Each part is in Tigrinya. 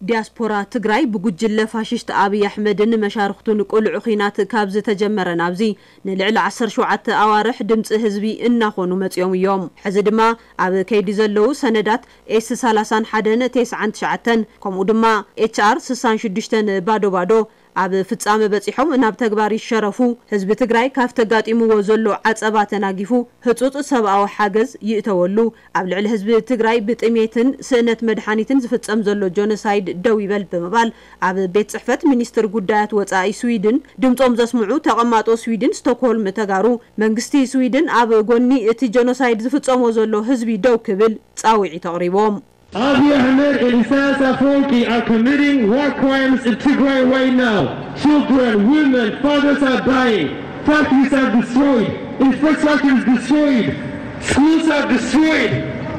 ዲያስፖራ ትግራይ ብጉጅለ ፋሽስት ኣብይ ኣሕመድን መሻርኽቱን ቅሉዕ ኹናት ካብ ዝተጀመረ ናብዚ ንልዕሊ ዓሰርተ ሸውዓተ ኣዋርሕ ድምፂ ህዝቢ እናኾኑ መፂኦም እዮም። ሕዚ ድማ ኣብ ከይዲ ዘለዉ ሰነዳት ኤስ ሰላሳን ሓደን ተስዓን ትሽዓተን ከምኡ ድማ ኤች ኣር ስሳን ሽዱሽተን ባዶ ባዶ ኣብ ፍጻመ በጺሖም ናብ ተግባር ይሸረፉ። ህዝቢ ትግራይ ካብቲ ኣጋጢምዎ ዘሎ ዓጸባ ተናጊፉ ህጹጽ ሰብኣዊ ሓገዝ ይእተወሉ። ኣብ ልዕሊ ህዝቢ ትግራይ ብጥሜትን ስእነት መድሓኒትን ዝፍጸም ዘሎ ጆኖሳይድ ደው ይበል ብምባል ኣብ ቤት ጽሕፈት ሚኒስትር ጉዳያት ወጻኢ ስዊድን ድምጾም ዘስምዑ ተቐማጦ ስዊድን ስቶክሆልም ተጋሩ መንግስቲ ስዊድን ኣብ ጎኒ እቲ ጆኖሳይድ ዝፍጸሞ ዘሎ ህዝቢ ደው ክብል ጻውዒት ኣቕሪቦም። Abiy Ahmed and Isaias Afwerki are committing war crimes in Tigray right now. Children, women, fathers are dying. Factories are destroyed. Infrastructure is destroyed. Schools are destroyed.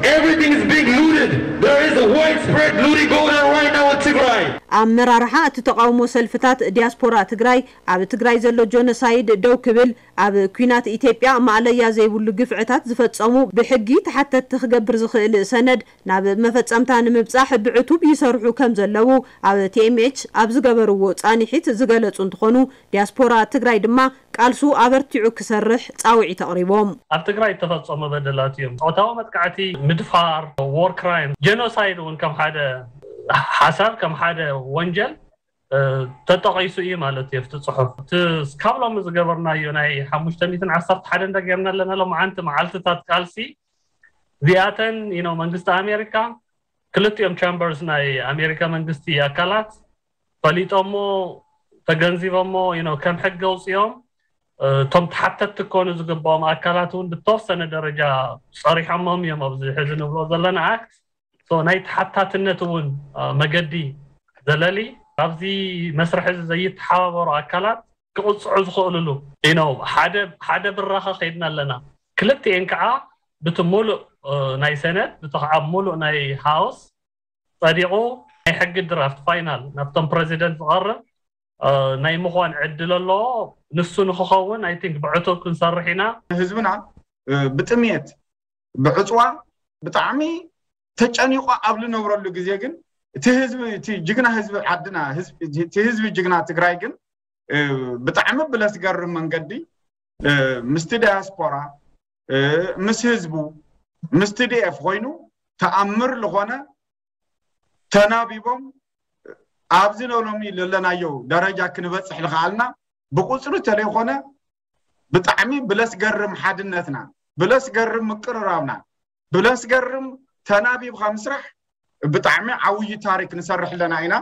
Everything is being looted. There is a widespread looting going on right now in Tigray. ኣመራርሓ እቲ ተቓውሞ ሰልፍታት ዲያስፖራ ትግራይ ኣብ ትግራይ ዘሎ ጆኖሳይድ ደው ክብል ኣብ ኲናት ኢትዮጵያ ማእለያ ዘይብሉ ግፍዕታት ዝፈጸሙ ብሕጊ ተሓተትቲ ክገብር ዝኽእል ሰነድ ናብ መፈጸምታ ንምብጻሕ ብዕቱብ ይሰርሑ ከም ዘለዉ ኣብ ቲ ኤም ኤች ኣብ ዝገበርዎ ጻንሒት ዝገለጹ እንትኾኑ፣ ዲያስፖራ ትግራይ ድማ ቃልሱ ኣበርቲዑ ክሰርሕ ጻውዒት ኣቕሪቦም። ኣብ ትግራይ እተፈጸሙ በደላት እዮም። ጾታዊ መጥቃዕቲ፣ ምድፋር፣ ዎር ክራይም፣ ጀኖሳይድ እውን ከም ሓደ ሓሳብ፣ ከም ሓደ ወንጀል ተጠቒሱ እዩ ማለት እዩ ኣብቲ ጽሑፍ። እቲ እስካብ ሎሚ ዝገበርናዮ ናይ ሓሙሽተ ሚእትን ዓሰርተ ሓደን ጌርና ኣለና ሎምዓንቲ መዓልትታት ቃልሲ፣ እዚኣተን you know መንግስቲ ኣሜሪካ፣ ክልቲኦም ቻምበርስ ናይ ኣሜሪካ መንግስቲ ኣካላት ፈሊጦሞ፣ ተገንዚቦሞ you know ከም ሕጊ ኣውፅኦም እቶም ተሓተትቲ ክኾኑ ዝግባኦም ኣካላት እውን ብተወሰነ ደረጃ ፀሪሖሞም እዮም ኣብዚ ሕዚ ንብሎ ዘለና ኣክት። So ናይ ተሓታትነት እውን መገዲ ዘለሊ ኣብዚ መስርሕ እዚ ዘይተሓባበሩ ኣካላት ክቕፅዑ ዝኽእልሉ you know ሓደ ሓደ ብራኸ ከይድና ኣለና። ክልቲኤን ከዓ ብቲ ሙሉእ ናይ ሰነት ብቲ ከዓ ሙሉእ ናይ ሃውስ ጸዲቑ ናይ ሕጊ ድራፍት ፋይናል ናብቶም ፕረዚደንት ዝቐርብ ናይ ምዃን ዕድል ኣለዎ። ንሱ ንክኸውን I think ብዕቱብ ክንሰርሕ ኢና። ህዝብና ብጥምየት ብዕፅዋ ብጣዕሚ ተጨኒቑ ኣብ ዝነብረሉ ግዜ ግን እቲ ህዝቢ እቲ ጅግና ህዝቢ ዓድና እቲ ህዝቢ ጅግና ትግራይ ግን ብጣዕሚ ብለስገርም መንገዲ ምስቲ ዳያስፖራ ምስ ህዝቡ ምስ ቲ ዲ ኤፍ ኮይኑ ተኣምር ዝኾነ ተናቢቦም ኣብዚ ሎሚ ዘለናዮ ደረጃ ክንበፅሕ ዝኸኣልና ብቁፅሪ ተለይኮነ ብጣዕሚ ብለስገርም ሓድነትና ብለስገርም ምቅርራብና ብለስገርም ተናቢብካ ምስራሕ ብጣዕሚ ዓብዪ ታሪክ ንሰርሕ ኣለና ኢና።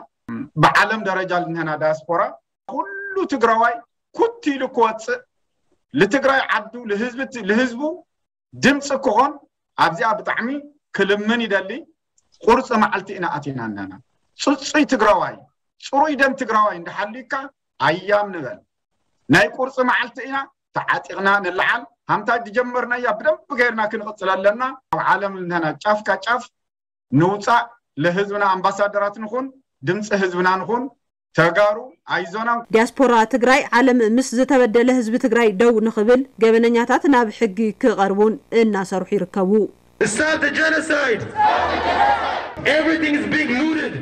ብዓለም ደረጃ ልንህና ዳያስፖራ ኩሉ ትግራዋይ ኩት ኢሉ ክወፅእ ልትግራይ ዓዱ ልህዝቡ ድምፂ ክኾን ኣብዚኣ ብጣዕሚ ክልምን ይደሊ። ቁርፂ መዓልቲ ኢና ኣቲና ኣለና። ፅፁይ ትግራዋይ ፅሩይ ደም ትግራዋይ እንዳሓልዩካ ኣያም ንበል። ናይ ቁርፂ መዓልቲ ኢና ተዓጢቕና ንለዓል። ሃምታ ዝጀመርናያ ብደንብ ገይርና ክንቕፅል ኣለና። ኣብ ዓለም ልንህና ጫፍካ ጫፍ ንውፃእ። ለህዝብና ኣምባሳደራት ንኹን፣ ድምፂ ህዝብና ንኹን። ተጋሩ ኣይዞና። ዲያስፖራ ትግራይ ዓለም ምስ ዝተበደለ ህዝቢ ትግራይ ደው ንኽብል ገበነኛታት ናብ ሕጊ ክቐርቡን እናሰርሑ ይርከቡ። Stop the genocide! Everything is being looted!